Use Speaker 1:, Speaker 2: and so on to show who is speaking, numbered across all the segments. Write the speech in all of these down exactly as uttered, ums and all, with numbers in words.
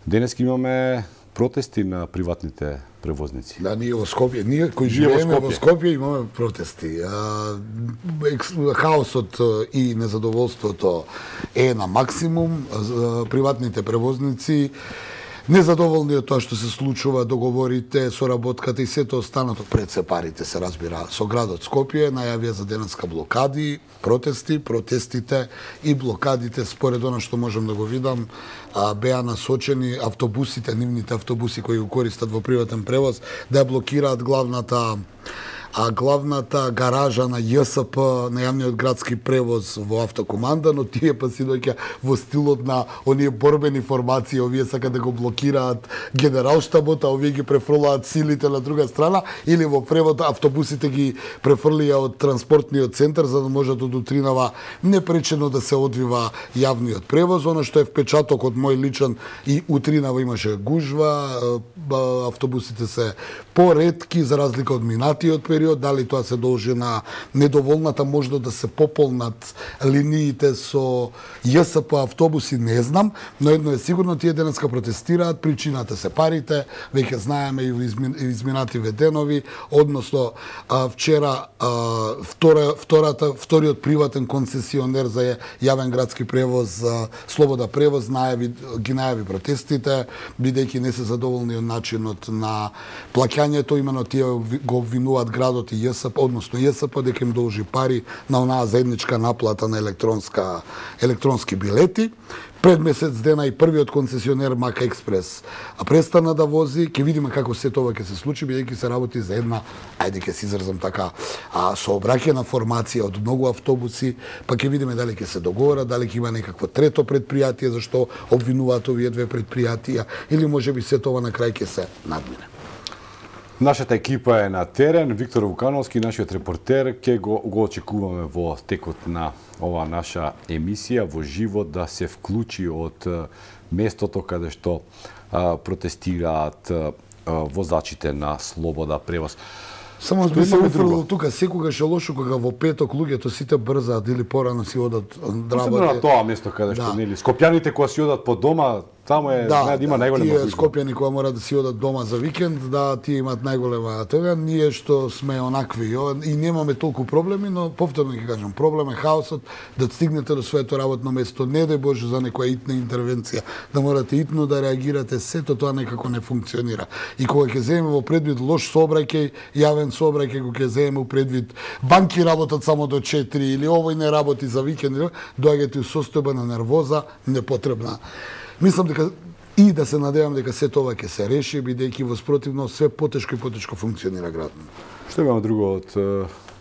Speaker 1: Денес имаме протести на приватните превозници.
Speaker 2: Да, ние во Скопје, ние кои живееме во Скопје имаме протести. А, екс, хаосот и незадоволството е на максимум. Приватните превозници незадоволни од тоа што се случува, договорите, соработката и сето останато, пред се парите се разбира, со градот Скопје најавија за денеска блокади, протести, протестите и блокадите според она што можам да го видам, беа насочени автобусите, нивните автобуси кои го користат во приватен превоз, да блокираат главната а главната гаража на ЈСП, на јавниот градски превоз во автокоманда, но тие па си доаѓа во стилот на оние борбени формации, овие сакаат да го блокираат генералштабот, а овие ги префрлаат силите на друга страна, или во превод автобусите ги префрлија од транспортниот центар за да можат од утринава непречено да се одвива јавниот превоз. Оно што е впечаток од мој личен, и утринава имаше гужва, автобусите се поретки за разлика од минатиот период, дали тоа се должи на недоволната можност да се пополнат линиите со ЈСП автобуси, не знам, но едно е сигурно, тие денеска протестираат, причината се парите, веќе знаеме и во изминативе денови, односно вчера втора, втората, вториот приватен концесионер за јавен градски превоз, Слобода превоз, најави, ги најави протестите, бидејќи не се задоволни од начинот на плаќањето, имено тие го обвинуваат градот и ЈСП, односно ЈСП дека им должи пари на онаа заедничка наплата на електронска електронски билети. Пред месец дена и првиот концесионер Мака Експрес престана да вози, ќе видиме како се тоа ќе се случи, бидејќи се работи за една, ајде ќе се изразам така, а, сообраќајна формација од многу автобуси, па ќе видиме дали ќе се договорат, дали ќе има некакво трето предпријатие зашто обвинуваат овие две предпријатија, или можеби се тоа на крај ќе се надмине.
Speaker 1: Нашата екипа е на терен, Виктор Вукановски, нашиот репортер, ќе го, го очекуваме во текот на ова наша емисија во живот да се вклучи од местото каде што а, протестираат а, возачите на Слобода превоз.
Speaker 2: Само би се уфрло тука, секогаш е лошо кога во петок луѓето сите брзаат или порано си одат да работи.
Speaker 1: На тоа место каде што нели скопјаните кога си одат по дома, таму е
Speaker 2: да,
Speaker 1: да има
Speaker 2: да,
Speaker 1: најголема
Speaker 2: тие скопјани кога мора да си одат дома за викенд, да тие имаат најголема тега. Ние што сме онакви и немаме толку проблеми, но повторно ќе кажам, проблем е хаосот да стигнете до своето работно место, не дај Боже за некоја итна интервенција, да морате итно да реагирате, сето тоа некако не функционира. И кога ќе земеме во предвид лош сообраќај, јавен сообраќај, кога ќе земеме во предвид банки работат само до четири или овој не работи за викенд, доаѓате у состојба на нервоза непотребна. Мислам дека и да се надевам дека се тоа ќе се реши, бидејќи во спротивно све потешко и потешко функционира градот.
Speaker 1: Што имаме друго од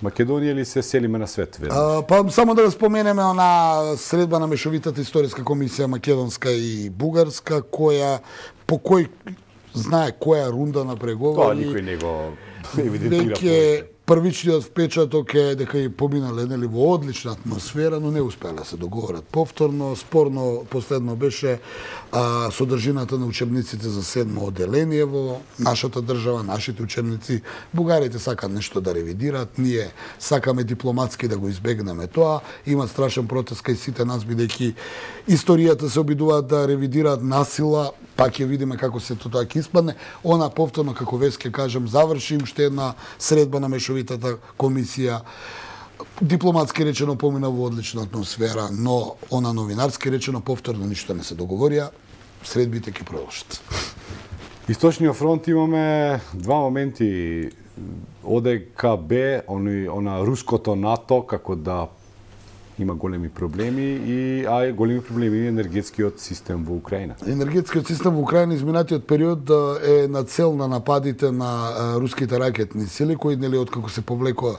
Speaker 1: Македонија или се селиме на свет?
Speaker 2: А, па само да споменеме она средба на мешовитата историска комисија македонска и бугарска, која по кој знае која рунда на преговори.
Speaker 1: Тоа никој не го евидентира.
Speaker 2: Веќе првичниот впечаток е дека и поминале нели во одлична атмосфера, но не успеале да се договорат повторно. Спорно последно беше а, содржината на учебниците за седмо оделение во нашата држава, нашите учебници. Бугарите сакаат нешто да ревидираат, ние сакаме дипломатски да го избегнеме тоа. Има страшен протест кај сите нас, бидејќи историјата се обидуваат да ревидираат насила, па ќе видиме како се тоа ќе испадне. Она повторно, како веќе ќе кажам, заврши уште една средба на мешовитата комисија. Дипломатски речено помина во одлична атмосфера, но она новинарски речено повторно ништо не се договорија. Средбите ќе продолжат.
Speaker 1: Источниот фронт имаме два моменти. ОДКБ, она руското НАТО, како да има големи проблеми и а големи проблеми и енергетскиот систем во Украина.
Speaker 2: Енергетскиот систем во Украина изминатиот период е на цел на нападите на руските ракетни сили кои нели откако се повлекоа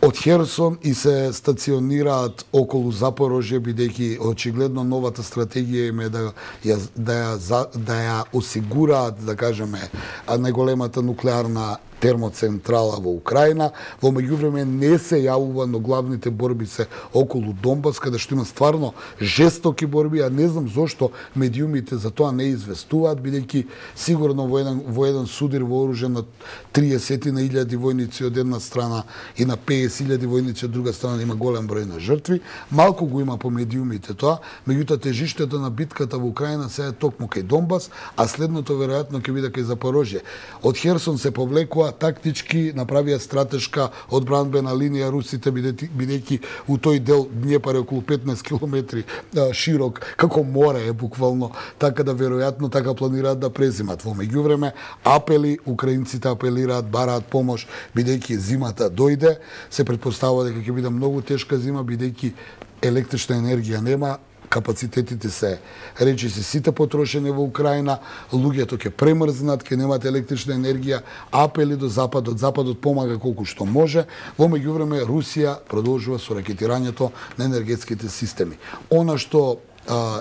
Speaker 2: од Херсон и се стационираат околу Запорожје, бидејќи очигледно новата стратегија им е да ја, да ја, да ја осигураат, да кажеме, најголемата нуклеарна термоцентрала во Украина. Во меѓувреме не се јавува, но главните борби се околу Донбас, каде што има стварно жестоки борби, а не знам зошто медиумите за тоа не известуваат, бидејќи сигурно во еден, во еден судир вооружен на триесет на илјади војници од една страна и на песет илјади војници од друга страна има голем број на жртви. Малку го има по медиумите тоа, меѓутоа тежиштето на битката во Украина се е токму кај Донбас, а следното веројатно ќе биде кај Запорожје. Од Херсон се повлекува тактички, направија стратешка одбранбена линија русите, бидејќи у тој дел Днепар е околу петнаесет километри широк, како море е буквално, така да веројатно така планираат да презимат. Во меѓувреме апели, украинците апелираат, бараат помош, бидејќи зимата дојде, се претпоставува дека ќе биде многу тешка зима, бидејќи електрична енергија нема, капацитетите се речиси сите потрошени во Украина, луѓето ќе премрзнат, ќе немат електрична енергија, апели до Западот, Западот помага колку што може, во меѓувреме Русија продолжува со ракетирањето на енергетските системи. Она што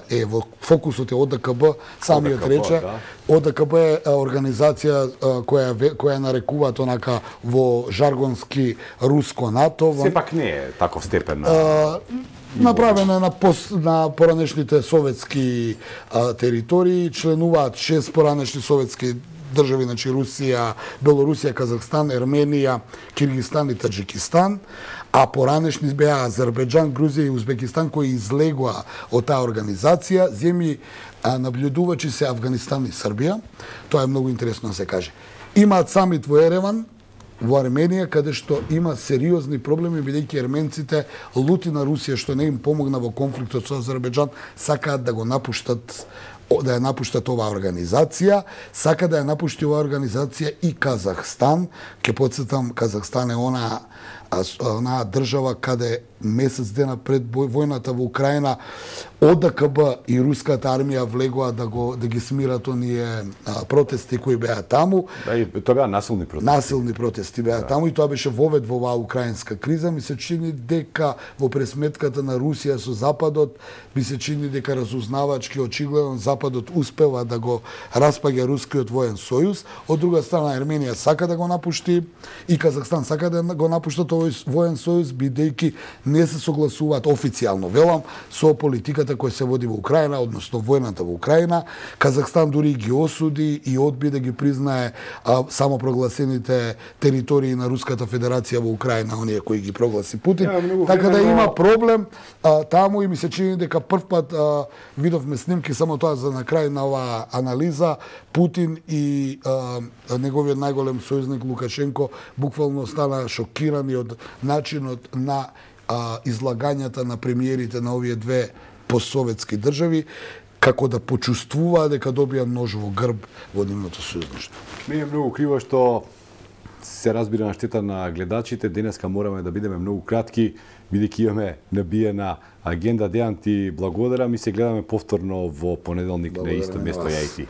Speaker 2: е во фокусот е О Д К Б, самиот рече, О Д К Б е организација која која нарекуваат онака во жаргонски руско НАТО.
Speaker 1: Сепак не е таков степен.
Speaker 2: Направена на, пос, на поранешните советски а, територии, членуваат шест поранешни советски држави, значи Русија, Белорусија, Казахстан, Ерменија, Киргизстан и Таџикистан, а поранешни беа Азербејџан, Грузија и Узбекистан кои излегоа од таа организација. Земји наблюдувачи се Авганистан и Србија. Тоа е многу интересно да се каже. Имаат самит во Ереван, во Арменија, каде што има сериозни проблеми, бидејќи ерменците лути на Русија што не им помогна во конфликтот со Азербејџан, сакаат да го напуштат да ја напуштат оваа организација, сака да ја напушти оваа организација и Казахстан. Ке потсетам, Казахстан е она онаа држава каде месец дена пред војната во Украина О Д К Б и руската армија влегоа да го да ги смират оние протести кои беа таму.
Speaker 1: Да, и тоа беа насилни протести.
Speaker 2: Насилни протести беа да. таму и тоа беше вовед во оваа украинска криза. Ми се чини дека во пресметката на Русија со Западот, ми се чини дека разузнавачки очигледно Западот успева да го распаѓа рускиот воен сојуз. Од друга страна Ерменија сака да го напушти и Казахстан сака да го напуштат овој воен сојуз, бидејќи не се согласуваат официјално, велам, со политиката која се води во Украина, односно војната во Украина. Казахстан дури ги осуди и одби да ги признае а, самопрогласените територии на Руската Федерација во Украина, оние кои ги прогласи Путин. Yeah, така да има проблем а, таму и ми се чини дека прв пат а, видовме снимки, само тоа за на крај на оваа анализа, Путин и а, неговиот најголем сојузник Лукашенко буквално стана шокирани од начинот на а, излагањата на премиерите на овие две постсоветски држави, како да почувствуваа дека добија нож во грб во нивното сојузништво.
Speaker 1: Ми е многу криво што се разбира на штета на гледачите. Денеска мораме да бидеме многу кратки, бидејќи имаме набиена агенда. Дејан, ти благодарам и се гледаме повторно во понеделник на исто место. Ја и ти.